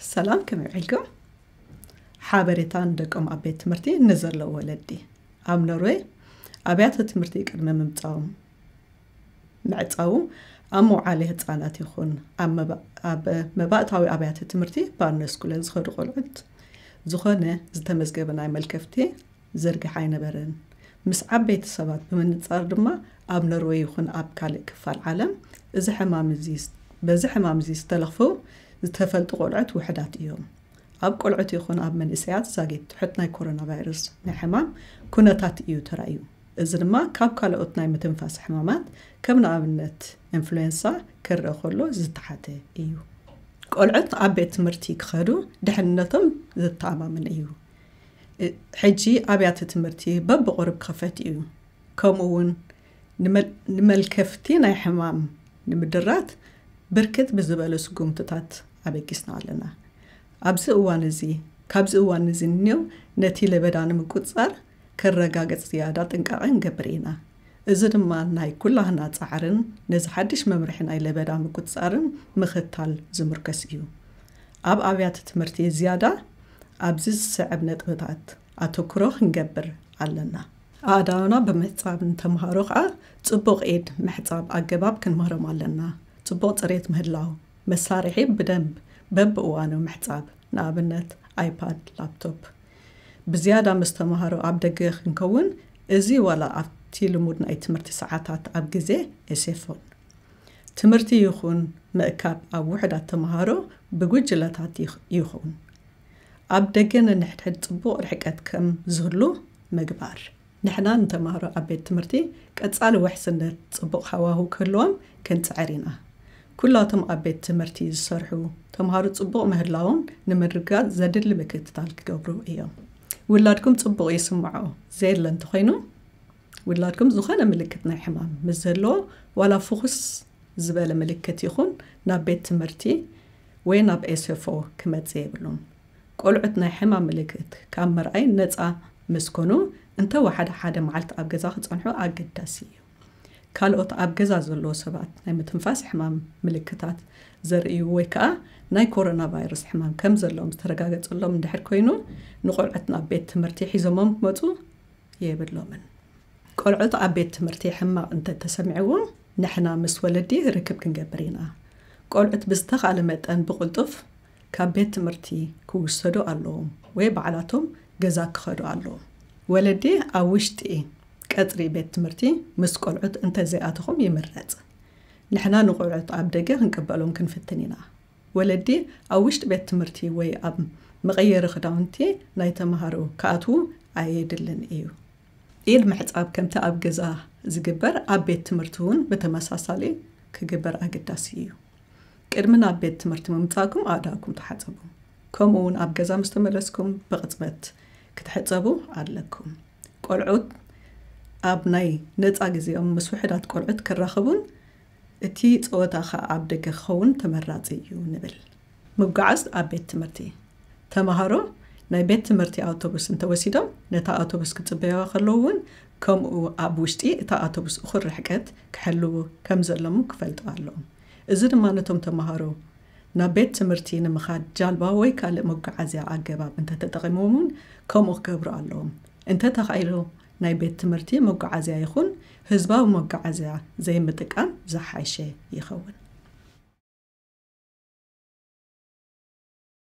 ሰላም፣ ከመይ ውዒልኩም? ሓበሬታ ንደቆም ኣብ ቤት ትምህርቲ ንዘለዉ ወለዲ። ኣብ ኖርዌይ ኣብያተ ትምህርቲ ቅድሚ ምምጻዎም ምዕጻዉ፣ ኣብ መውዓሊ ህጻናት ይኹን ኣብ መባ- ኣብ መባእታዊ ኣብያተ ትምህርቲ ባርነስኩለ ዝኸዱ ቆልዑት ዝኾነ ዝተመዝገበ ናይ መልከፍቲ ዝርግሕ ኣይነበረን። ምስ ዓበይቲ ሰባት ብምንጻር ድማ ኣብ ኖርወይ ይኹን ኣብ ካልእ ክፋል ዓለም እዚ ሕማም እዚ በዚ ሕማም እዚ ዝተለኽፉ ዝተፈልጡ ቆልዑት ውሕዳት እዮም። ኣብ ቆልዑት ይኹን ኣብ መንእሰያት ዛጊት ትሑት ናይ ኮሮና ቫይረስ ናይ ሕማም ኩነታት እዩ ተራእዩ። እዚ ድማ ካብ ካልኦት ናይ ምትንፋስ ሕማማት ከም ንኣብነት ኢንፍሉዌንሳ ክረአ ከሎ ዝተሓተ እዩ። ቆልዑት ኣብ ቤት ትምህርቲ ክኸዱ ድሕንነቶም ዘተኣማምን እዩ። ሕጂ ኣብያተ ትምህርቲ በብቑሩብ ክኸፈት እዩ። ከምኡ እውን ንመል- ንመልከፍቲ ናይ ሕማም ንምድራት ብርክት ብዝበለ ስጉምትታት ኣበጊስና ኣለና። ኣብዚ እዋን እዚ ካብዚ እዋን እዚ ንኔው ነቲ ለበዳ ንምቁፅፃር ከረጋገፅ ዝያዳ ጥንቃቐ ንገብር ኢና። እዚ ድማ ናይ ኩላህና ፃዕርን ነዚ ሓድሽ መምርሒ ናይ ለበዳ ምቁፅፃርን ምኽታል ዝምርከስ እዩ። ኣብ ኣብያተ ትምህርቲ ዝያዳ ኣብዚ ዝስዕብ ነጥብታት ኣተኩሮ ክንገብር ኣለና። ኣእዳውና ብምሕጻብ ንተምሃሮ ከኣ ጽቡቕ ኢድ ምሕጻብ ኣገባብ ክንምህሮም ኣለና። ጽቡቕ ጽሬት ምህላው፣ መሳርሒ ብደንብ በብእዋኑ ምሕጻብ፣ ንኣብነት ኣይፓድ፣ ላፕቶፕ። ብዝያዳ ምስ ተምሃሮ ኣብ ደገ ክንከውን፣ እዚ ዋላ ኣብቲ ልሙድ ናይ ትምህርቲ ሰዓታት ኣብ ግዜ ኤሴፎን። ትምህርቲ ይኹን ምእካብ ኣብ ውሑዳት ተምሃሮ ብጉጅለታት ይኽ- ይኹን ኣብ ደገ ነንሕድሕድ ጽቡቕ ርሕቀት ከም ዝህሉ ምግባር። ንሕና ንተምሃሮ ኣብ ቤት ትምህርቲ ቀጻሊ ውሕስነት ጽቡቕ ሃዋህው ክህልዎም ክንጽዕር ኢና። ኩላቶም ኣብ ቤት ትምህርቲ ዝሰርሑ ተምሃሮ ጽቡቕ ምህላዎም ንምርግጋጽ ዘድሊ ምክትታል ክገብሩ እዮም። ውላድኩም ጽቡቕ ይስምዖ ዘየለ እንተኾይኑ፣ ውላድኩም ዝኾነ ምልክት ናይ ሕማም ምስ ዘለዎ ዋላ ፍኹስ ዝበለ ምልክት ይኹን ናብ ቤት ትምህርቲ ወይ ናብ ኤስኤፍኦ ክመጽእ የብሉን። ቆልዑት ናይ ሕማም ምልክት ካብ ምርኣይ ነጻ ምስ ኮኑ እንተ ወሓደ ሓደ መዓልቲ ኣብ ገዛ ክጸንሑ ኣገዳሲ እዩ። ካልኦት ኣብ ገዛ ዘለዉ ሰባት ናይ ምትንፋስ ሕማም ምልክታት ዘርእዩ ወይ ከኣ ናይ ኮሮና ቫይረስ ሕማም ከም ዘለዎም ዝተረጋገጸሎም እንድሕር ኮይኑ ንቆልዑት ናብ ቤት ትምህርቲ ሒዞሞም ክመጹ የብሎምን። ቆልዑት ኣብ ቤት ትምህርቲ ሕማቕ እንተተሰሚዕዎም ንሕና ምስ ወለዲ ርክብ ክንገብር ኢና። ቆልዑት ብዝተኻለ መጠን ብቕልጡፍ ካብ ቤት ትምህርቲ ክውሰዱ ኣለዎም ወይ ባዕላቶም ገዛ ክኸዱ ኣለዎም። ወለዲ ኣብ ውሽጢ ቀጽሪ ቤት ትምህርቲ ምስ ቆልዑት እንተዘይኣተኹም ይምረጽ። ንሕና ንቆልዑት ኣብ ደገ ክንቅበሎም ክንፍትን ኢና። ወለዲ ኣብ ውሽጢ ቤት ትምህርቲ ወይ ኣብ መቐየሪ ክዳውንቲ ናይ ተምሃሮ ክኣትዉ ኣየድልን እዩ። ኢድ ምሕጻብ ከምቲ ኣብ ገዛ ዝግበር ኣብ ቤት ትምህርቲ እውን ብተመሳሳሊ ክግበር ኣገዳሲ እዩ። ቅድሚ ናብ ቤት ትምህርቲ ምምጻእኩም ኣእዳውኩም ተሓጸቡ። ከምኡ እውን ኣብ ገዛ ምስ ተመለስኩም ብቕጽበት ክትሕጸቡ ኣለኩም። ቆልዑት ኣብ ናይ ነጻ ግዜኦም ምስ ውሑዳት ቆልዑት ክራኸቡን እቲ ጸወታ ኸኣ ኣብ ደገ ክኸውን ተመራጺ እዩ ንብል። ምጉዓዝ ኣብ ቤት ትምህርቲ። ተምሃሮ ናይ ቤት ትምህርቲ ኣውቶቡስ እንተወሲዶም ነታ ኣውቶቡስ ክጽበይዋ ከለዉ እውን ከምኡ ኣብ ውሽጢ እታ ኣውቶቡስ እኹል ርሕቀት ክሕልዉ ከም ዘለሙ ክፈልጡ ኣለዎም። እዚ ድማ ነቶም ተምሃሮ ናብ ቤት ትምህርቲ ንምኻድ ጃልባ ወይ ካልእ መጓዓዝያ ኣገባብ እንተተጠቒሞም እውን ከምኡ ክገብሩ ኣለዎም። እንተተኻኢሉ ናይ ቤት ትምህርቲ መጓዓዝያ ይኹን ህዝባዊ መጓዓዝያ ዘይምጥቃም ዝሓሸ ይኸውን።